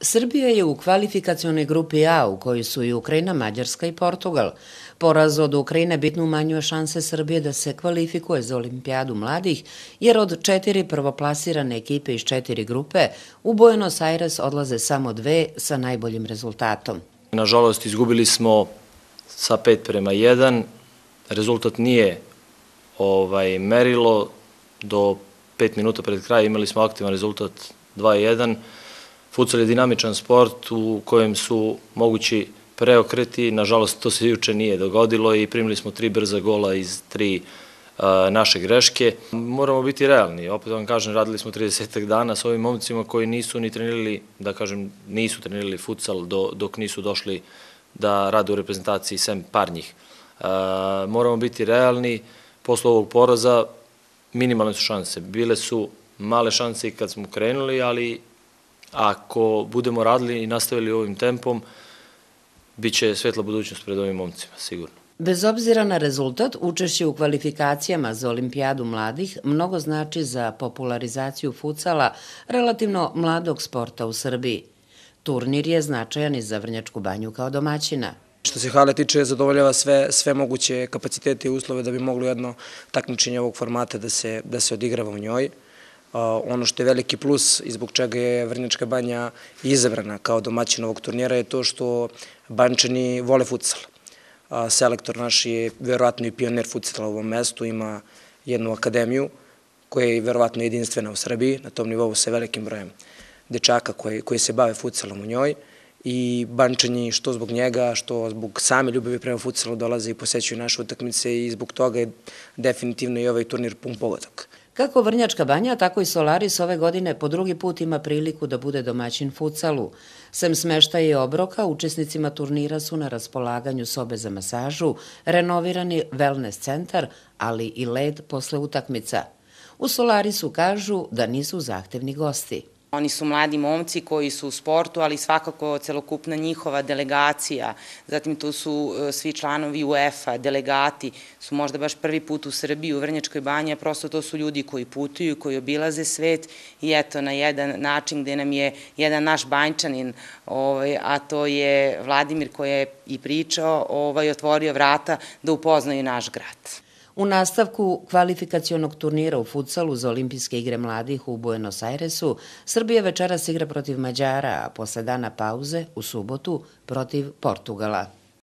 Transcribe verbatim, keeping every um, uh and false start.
Srbija je u kvalifikacionoj grupi A u kojoj su i Ukrajina, Mađarska i Portugal. Poraz od Ukrajine bitno umanjuje šanse Srbije da se kvalifikuje za olimpijadu mladih, jer od četiri prvoplasirane ekipe iz četiri grupe u Buenos Aires odlaze samo dve sa najboljim rezultatom. Nažalost, izgubili smo sa pet prema jedan. Rezultat nije ovaj, merilo. Do pet minuta pred kraj imali smo aktivan rezultat dva jedan. Futsal je dinamičan sport u kojem su mogući preokreti. Nažalost, to se juče nije dogodilo i primili smo tri brza gola iz tri a, naše greške. Moramo biti realni. Opet vam kažem, radili smo trideset dana s ovim momcima koji nisu ni trenirali, da kažem, nisu trenirali futsal do, dok nisu došli da rade u reprezentaciji, sem par njih. A, moramo biti realni. Posle ovog poraza minimalne su šanse. Bile su male šanse i kad smo krenuli, ali ako budemo radili i nastavili ovim tempom, bit će svetla budućnost pred ovim momcima, sigurno. Bez obzira na rezultat, učešće u kvalifikacijama za olimpijadu mladih mnogo znači za popularizaciju futsala relativno mladog sporta u Srbiji. Turnir je značajan i za Vrnjačku Banju kao domaćina. Što se hale tiče, zadovoljava sve, sve moguće kapacitete i uslove da bi moglo jedno takmičenje ovog formata da se, da se odigrava u njoj. Uh, ono što je veliki plus i zbog čega je Vrnjačka Banja izabrana kao domaćin ovog turnira je to što Banjčani vole futsal. Uh, selektor naš je verovatno i pionir futsala u ovom mestu, ima jednu akademiju koja je verovatno jedinstvena u Srbiji, na tom nivou sa velikim brojem dečaka koji, koji se bave futsalom u njoj. I Banjčani što zbog njega, što zbog same ljubavi prema futsalu dolaze i posećuju naše utakmice i zbog toga je definitivno i ovaj turnir pun pogodak. Kako Vrnjačka Banja, tako i Solaris ove godine po drugi put ima priliku da bude domaćin futsalu. Sem smeštaja i obroka, učesnicima turnira su na raspolaganju sobe za masažu, renovirani wellness centar, ali i led posle utakmica. U Solarisu kažu da nisu zahtevni gosti. Oni su mladi momci koji su u sportu, ali svakako celokupna njihova delegacija, zatim tu su svi članovi UEFA, delegati, su možda baš prvi put u Srbiji, u Vrnjačkoj Banji, a prosto to su ljudi koji putuju, koji obilaze svet i eto na jedan način gde nam je jedan naš Banjčanin, ovaj, a to je Vladimir koji je i pričao, ovaj, otvorio vrata da upoznaju naš grad. U nastavku kvalifikacionog turnira u futsalu za olimpijske igre mladih u Buenos Airesu, Srbija večeras igra protiv Mađara, a posle dana pauze u subotu protiv Portugala.